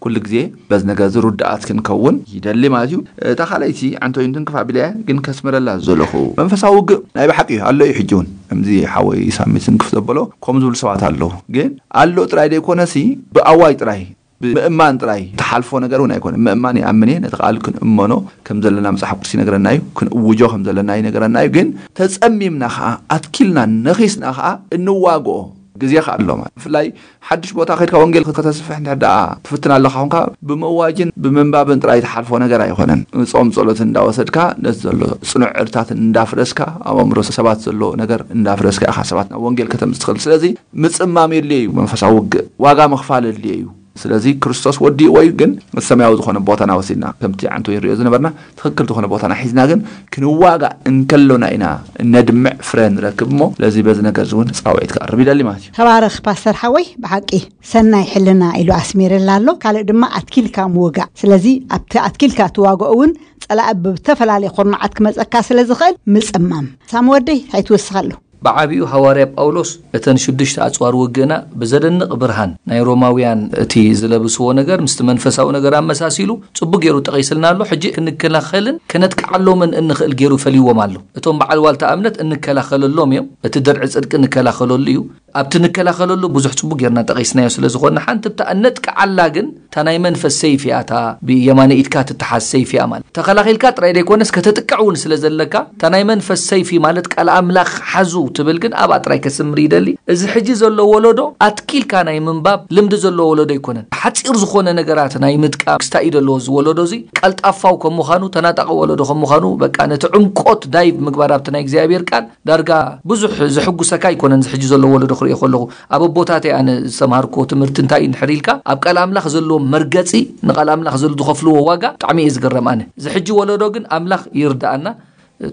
ኩሉ ግዜ በዚ ነገር እዚ ርዳኣት ክንከውን ይደሊ ማለት እዩ። እታ ካልኣይቲ ዓንቶይንትን ክፍ ኣቢለያ ግን ከስምረላ ዝደለኹ መንፈሳዊ ውግእ ናይ ብሓቂ እዩ ኣሎ እዩ። ሕጂ እውን ከምዚ ሓወይ ሳሚ ስንክፍ ዘበሎ ከምኡ ዝብሉ ሰባት ኣለዉ። ግን ኣሎ ጥራይ ዘይኮነሲ ብኣዋጅ ጥራይ ብምእማን ጥራይ ትሓልፎ ነገር እውን ኣይኮነ። ምእማን ይኣምን እየ። ነቲ ቃል ክንእመኖ ከም ዘለና መፅሓፍ ቅዱስ ይነግረና እዩ። ክንእውጆ ከም ዘለና ይነግረና እዩ። ግን ተፀሚምና ከዓ ኣትኪልና ነኺስና ከዓ እንዋግኦ ግዜ ከዓ ኣሎ ማለት ብፍላይ ሓድሽ ቦታ ከድካ ወንጌል ከተስፍሕ እንድሕር ደኣ ትፍትን ኣለካ ኮንካ ብምእዋጅን ብምንባብን ጥራይ ትሓልፎ ነገር ኣይኮነን። ጾም ጸሎትን እንዳወሰድካ ነቲ ዘሎ ጽኑዕ ዕርታት እንዳፍረስካ ኣብ ኣእምሮ ሰባት ዘሎ ነገር እንዳፍረስካ ኢኻ ሰባት ናብ ወንጌል ከተምጽእ ትኽእል። ስለዚ ምጽማም የድልዮ እዩ መንፈሳዊ ውግእ ዋጋ ምኽፋል የድልዮ እዩ። ስለዚ ክርስቶስ ወዲእዎ እዩ ግን እቲ ሰማያዊ ዝኾነ ቦታና ወሲድና ከምቲ ዓንቶ ይንሪኦ ዝነበርና ትኽክል ዝኾነ ቦታና ሒዝና ግን ክንዋጋእ እንከሎና ኢና እነድምዕ ፍረ ንረክብ እሞ ስለዚ በዚ ነገር እዚ እውን ፃውዒት ክቐርብ ይደሊ ማለት እዩ። ተባረኽ ፓስተር ሓወይ ብሓቂ ሰናይ ሕልና ኢሉ ኣስሚርላ ኣሎ። ካልእ ድማ ኣትኪልካ ምውጋእ። ስለዚ ኣብቲ ኣትኪልካ ትዋግኦ እውን ጸላኢ ብተፈላለየ ኩርናዓት ክመጸካ ስለ ዝኽእል ምጽማም። ሳሚ ወደይ እንታይ ትውስኸሉ? ብዓቢኡ ሃዋርያ ጳውሎስ እተን ሽዱሽተ ኣጽዋር ውግእና ብዘደንቕ ብርሃን ናይ ሮማውያን እቲ ዝለብስዎ ነገር ምስቲ መንፈሳዊ ነገር ኣመሳሲሉ ጽቡቅ ገይሩ ጠቒስልና ኣሎ። ሕጂ ክንከላኸልን ከነጥቅዓሎምን እንኽእል ገይሩ ፈልይዎም ኣሎ። እቶም በዓል ዋልታ እምነት እንከላኸለሎም እዮም። እቲ ድርዒ ጽድቂ እንከላኸለሉ እዩ። ኣብቲ ንከላኸለሉ ብዙሕ ጽቡቅ ጌርና ጠቒስናዮ ስለ ዝኾንና፣ ሓንቲ ብታ እነጥቅዓላ ግን እታ ናይ መንፈስ ሰይፊ እያ፣ እታ ብየማነ ኢድካ ትተሓዝ ሰይፊ እያ ማለት። ተኸላኺልካ ጥራይ ዘይኮነስ ከተጥቅዕ እውን ስለ ዘለካ፣ እታ ናይ መንፈስ ሰይፊ ማለት ቃል ኣምላኽ ሓዙ ትብል ግን ኣብኣ ጥራይ ከስምር ይደሊ። እዚ ሕጂ ዘሎ ወለዶ ኣትኪልካ ናይ ምንባብ ልምዲ ዘለዎ ወለዶ ኣይኮነን። ሓጺር ዝኾነ ነገራት ናይ ምጥቃም ክስታይ እዩ ዘለዎ እዚ ወለዶ እዚ። ቀልጣፋው ከም ምዃኑ፣ ተናጣቂ ወለዶ ከም ምዃኑ፣ በቃ ነቲ ዕምቆት ዳይቭ ምግባር ኣብቲ ናይ እግዚኣብሔር ቃል ዳርጋ ብዙሕ ዘሕጉሰካ ኣይኮነን። እዚ ሕጂ ዘሎ ወለዶ ክርእዮ ከለኹ ኣብ ኣቦታተይ ኣነ ዝተምሃርኩዎ ትምህርቲ እንታይ እዩ እንድሕር ኢልካ፣ ኣብ ቃል ኣምላኽ ዘለዎ መርገጺ፣ ንቃል ኣምላኽ ዘሎ ዝኸፍልዎ ዋጋ ብጣዕሚ እየ ዝግረም ኣነ። እዚ ሕጂ ወለዶ ግን ኣምላኽ ይርድኣና፣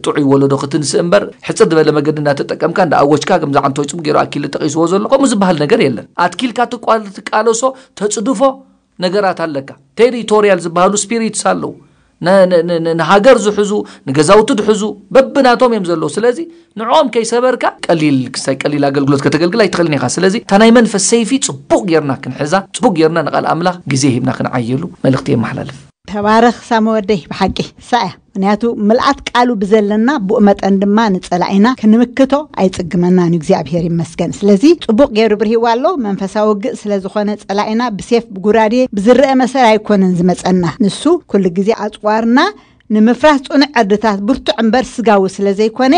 ጥዑይ ወለዶ ክትንስእ እምበር፣ ሕጽር ዝበለ መገዲ እናተጠቀምካ እንዳኣወጅካ፣ ከምዚ ዓንቶይ ጽቡቅ ገይሩ ኣኪለ ጠቂስዎ ዘሎ ከምኡ ዝበሃል ነገር የለን። ኣትኪልካ ትቋል-፣ ትቃለሶ፣ ተጽድፎ ነገራት ኣለካ። ቴሪቶሪያል ዝበሃሉ ስፒሪትስ ኣለዉ። ነ-፣ ነ-፣ ነ-፣ ነ-፣ ንሃገር ዝሕዙ፣ ንገዛውቲ ዝሕዙ በብናቶም እዮም ዘለዉ። ስለዚ ንዕኦም ከይሰበርካ ቀሊል ክሳይ ቀሊል ኣገልግሎት ከተገልግል ኣይትኽእልን ኢኻ። ስለዚ እታ ናይ መንፈስ ሰይፊ ጽቡቕ ጌርና ክንሕዛ፣ ጽቡቕ ጌርና ንቓል ኣምላኽ ግዜ ሂብና ክንዓየሉ መልእኽቲ የመሓላልፍ። ተባረኽ ሳሚ ወደይ፣ ብሓቂ ሳያ። ምኽንያቱ ምልኣት ቃሉ ብዘለና ብኡ መጠን ድማ ንጸላኢና ክንምክቶ ኣይጽግመናን እዩ፣ እግዚኣብሔር ይመስገን። ስለዚ ጽቡቕ ገይሩ ብርሂዋ ኣሎ። መንፈሳዊ ውግእ ስለ ዝኾነ ጸላኢና ብሴፍ ብጉራዴ ብዝረአ መሰል ኣይኮነን ዝመጸና። ንሱ ኩሉ ግዜ ኣጽዋርና ንምፍራስ ጽኑዕ ዕርድታት ብርቱዕ እምበር ስጋዊ ስለ ዘይኮነ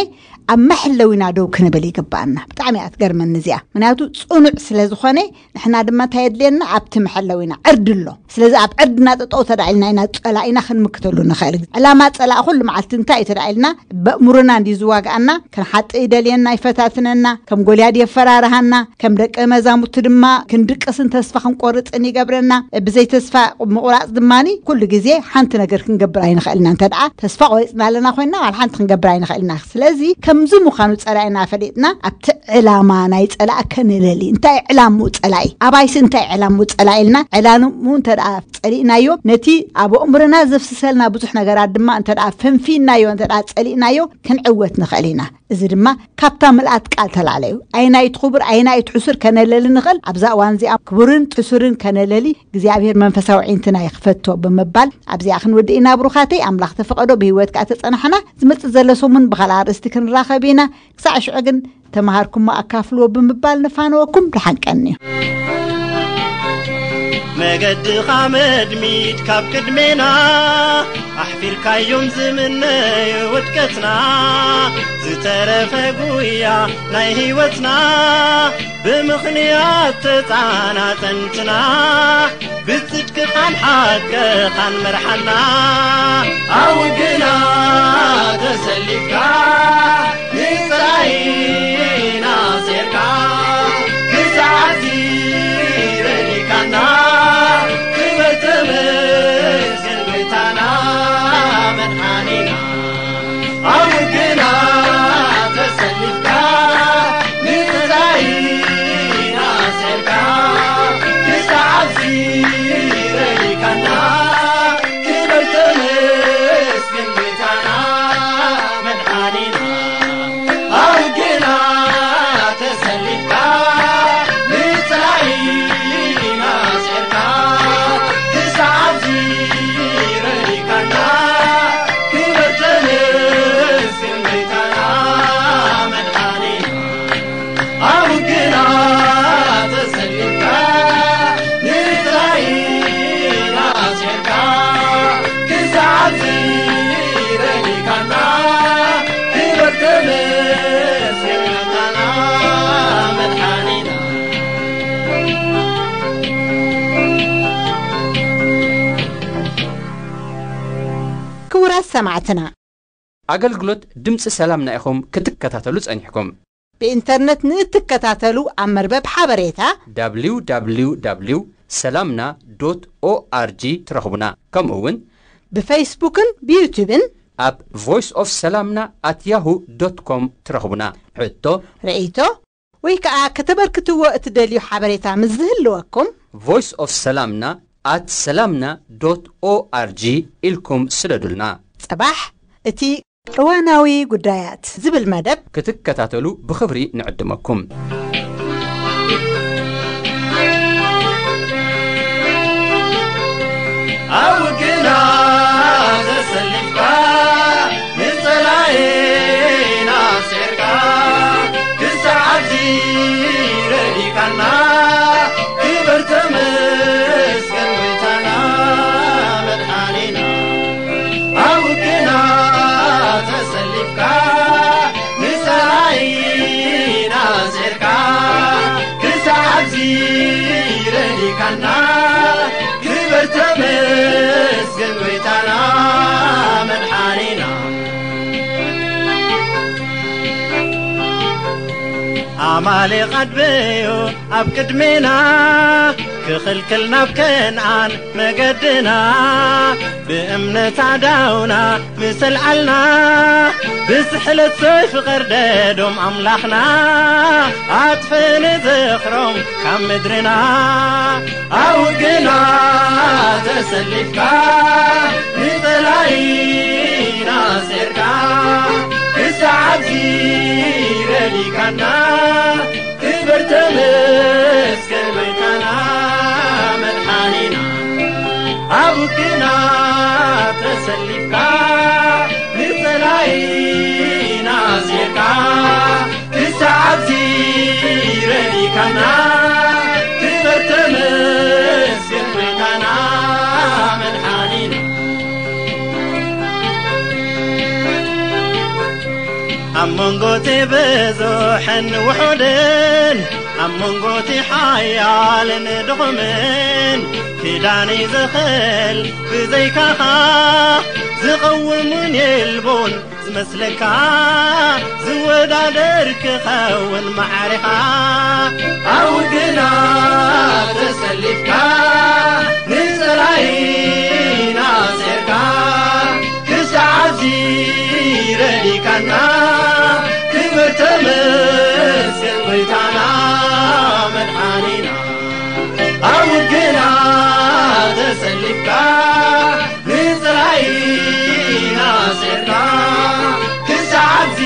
ኣብ መሕለዊና ደው ክንብል ይግባኣና። ብጣዕሚ እያ ትገርመኒ እዚኣ። ምኽንያቱ ጽኑዕ ስለ ዝኾነ ንሕና ድማ እንታይ የድልየና? ኣብቲ መሐለዊና ዕርዲ ኣሎ። ስለዚ ኣብ ዕርድና ጠጠው ተዳዒልና ኢና ጸላኢና ክንምክተሉ ንኽእል። ዕላማ ጸላኢ ኩሉ መዓልቲ እንታይ እዩ ተዳዒልና? በእምሮና እንዲ ዝዋግኣና፣ ክንሓጥእ ይደልየና፣ ይፈታትነና፣ ከም ጎልያድ የፈራርሃና፣ ከም ደቀ መዛሙርቲ ድማ ክንድቅስን ተስፋ ክንቆርጽን ይገብረና። ብዘይ ተስፋ ምቑራጽ ድማኒ ኩሉ ግዜ ሓንቲ ነገር ክንገብር ኣይንኽእልና። እንተ ደኣ ተስፋ ቆሪጽና ኣለና ኮይንና፣ ዋላ ሓንቲ ክንገብር ኣይንኽእልና። ስለዚ ከምዚ ምዃኑ ጸላኢና ፈሊጥና፣ ኣብቲ ዕላማ ናይ ጸላኢ ከነለሊ። እንታይ ዕላምኡ ጸላኢ? ኣባይሲ እንታይ ዕላምኡ ጸላኢ ኢልና፣ ዕላምኡ እንተ ደኣ ጸሊእናዮ፣ ነቲ ኣብ ኣእምሮና ዘፍስሰልና ብዙሕ ነገራት ድማ እንተ ደኣ ፈንፊናዮ፣ እንተ ደኣ ጸሊእናዮ፣ ክንዕወት ንኽእል ኢና። እዚ ድማ ካብታ ምልኣት ቃል ተላዕለ እዩ። ኣየናይ እቲ ክቡር፣ ኣየናይ እቲ ሕሱር ከነለሊ ንኽእል? ኣብዛ እዋን እዚኣ ክቡርን ሕሱርን ከነለሊ እግዚኣብሔር መንፈሳዊ ዒንትና ይኽፈቶ ብምባል ኣብዚኣ ክንውድእ ኢና። ብሩኻተይ፣ ኣምላኽ ተፈቐዶ ብህይወት ከኣ ተጸናሕና፣ ዝመጽእ ዘሎ ሰሙን ብኻልእ ኣርእስቲ ክንራኸብ ኢና። ክሳዕ ሽዑ ግን ተምሃርኩሞ ኣካፍልዎ ብምባል ንፋነወኩም። ደሓን ቀንዩ። መገድኻ መድሚድ ካብ ቅድሜና፣ ኣሕፊርካዮም ዝምነዩ ውድቀትና፣ ዝተረፈ ጉያ ናይ ህይወትና፣ ብምኽንያት ተጻናጸንትና፣ ብጽድቅኻን ሓቅኻን መርሓና። ኣብ ግና ተሰሊፍካ፣ ንጸላኢና ሴርካ፣ ክሳዕ ረዲካና፣ ክበር ተመስገን ጎይታና መድሓኒና። ኣብ ግና ተሰሊፍካ፣ ንጸላኢና ሴርካ፣ ክሳዕ ረዲካና፣ ክበር ተመስገን ጎይታና መድሓኒና። ኣብ ግና ተሰሊፍካ፣ ንጸላኢና ሴርካ፣ ክሳዕ ረዲካና፣ ክበር ተመስገን ጎይታና መድሓኒና። ኣብ ግና ተሰሊፍካ፣ ንጸላኢና ሴርካ፣ ክሳዕ ረዲካና፣ ክበር ተመስገን ጎይታና መድሓኒና። ክቡራት ሰማዕትና፣ ኣገልግሎት ድምፂ ሰላምና ኢኹም ክትከታተሉ ጸኒሕኩም። ብኢንተርነት ንእትከታተሉ ኣብ መርበብ ሓበሬታ www ሰላምና ዶት ኦኣርጂ ትረኽቡና። ከምኡ እውን ብፌስቡክን ብዩቱብን ኣብ ቮይስ ኦፍ ሰላምና ኣት ያሁ ዶት ኮም ትረኽቡና። ሕቶ፣ ርእይቶ ወይ ከዓ ከተበርክትዎ እትደልዩ ሓበሬታ ምስ ዝህልወኩም ቮይስ ኦፍ ሰላምና ኣት ሰላምና ዶት ኦኣርጂ ኢልኩም ስደዱልና። ጽባሕ እቲ እዋናዊ ጉዳያት ዝብል መደብ ክትከታተሉ ብኽብሪ ንዕድመኩም። ኣብ ውግና ተሰሊፍካ፣ ንጸላኢና ኣስዒርካ፣ ክሳዕ ኣብዚ ረዲካና፣ ክበር ተመስገን ጎይታና መድሓኒና። ኣብ ውግና ተሰሊፍካ፣ ንጸላኢና ኣስዒርካ፣ ክሳዕ ኣብዚ ረዲካና፣ ክበር ተመስገን ጎይታና መድሓኒና። ኣማሌቕ ኣድበዮ ኣብ ቅድሜና፣ ክኽልክል ናብ ከነኣን መገድና፣ ብእምነት ኣዳውና ምስ ኣልዓልና፣ ብስሕለት ሰይፊ ቀርደዶም ኣምላኽና፣ ኣጥፍእ ንዝኽሮም ካብ ምድርና። ኣብ ውግና ተሰሊፍካ፣ ንጸላኢና ኣስዒርካ፣ ክሳዕ ኣብዚ ረዲካና፣ ክበር ተመስገን ጎይታና መድሓኒና። ኣብ ውግና ተሰሊፍካ፣ ንጸላኢና ኣስዒርካ፣ ክሳዕ ኣብዚ ረዲካና፣ ክበር ተመስገን ጎይታና መድሓኒና። ኣብ መንጎ እቲ ብዙሕን ውሑድን፣ ኣብ መንጎ እቲ ሓያልን ድኹምን፣ ክዳን እዩ ዝኽእል ብዘይካኻ፣ ዝቐውምን የልቦን ዝመስለካ፣ ዝወዳደር ክኸውን ማዕሬኻ። ኣብ ውግና ተሰሊፍካ፣ ንጸላኢና ኣስዒርካ፣ ክሳዕ ኣብዚ ረዲካና፣ ክበር ተመስገን ጎይታና መድሓኒና። ኣብ ውግና ተሰሊፍካ፣ ንጸላኢና ኣስዒርካ፣ ክሳዕ ኣብዚ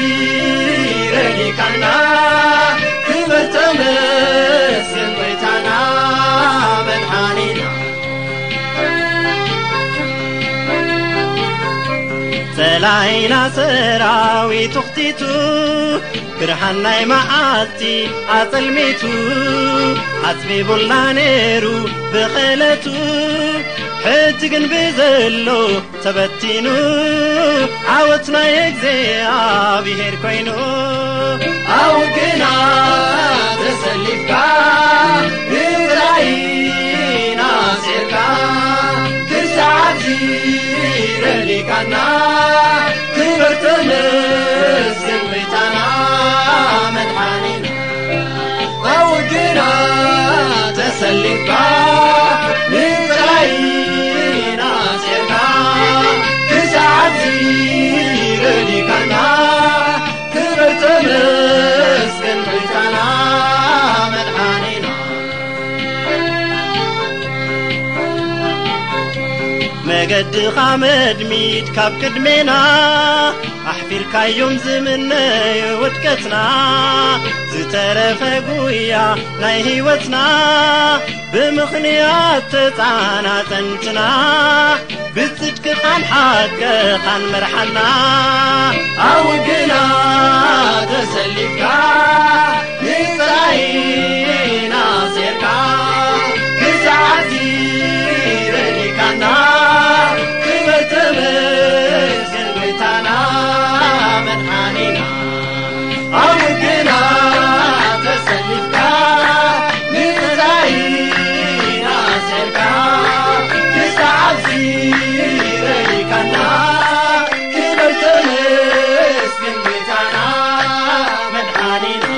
ረዲካና፣ ክበር ተመስገን ጎይታና መድሓኒና። ጸላኢና ሰራዊቱ ኽቲቱ፣ ብርሃን ናይ መዓልቲ ኣጸልሚቱ፣ ኣጽቢቡልና ነይሩ ብኽእለቱ፣ ሕጂ ግን ብዘሎ ተበቲኑ፣ ዓወት ናይ እግዚኣብሔር ኮይኑ። ኣብ ውግና ተሰሊፍካ፣ ንጸላኢና ኣስዒርካ፣ ክሳዕ ኣብዚ ረዲካና፣ ክበር ተመስገን ጎይታና መድሓኒና። ኣብ ውግና ተሰሊፍካ፣ ንጸላኢና ኣስዒርካ፣ ክሳዕ ኣብዚ ረዲካና፣ ክበር ተመስገን ጎይታና መድሓኒና። መገድኻ መድሚድ ካብ ቅድሜና፣ ኣሕፊርካዮም ዝምነዩ ውድቀትና፣ ዝተረፈ ጉያ ናይ ህይወትና፣ ብምኽንያት ተጻናጸንትና፣ ብጽድቅኻን ሓቅኻን መርሓና። ኣብ ውግና ተሰሊፍካ፣ ንጸላኢና ኣስዒርካ፣ ክሳዕ እዚ ረዲካና፣ ክበር ተመስገን ጎይታና መድሓኒና። ኣብ ውግና ተሰሊፍካ፣ ንጸላኢና ኣስዒርካ፣ ክሳዕ ኣብዚ ረዲካና፣ ክበር ተመስገን ጎይታና መድሓኒና።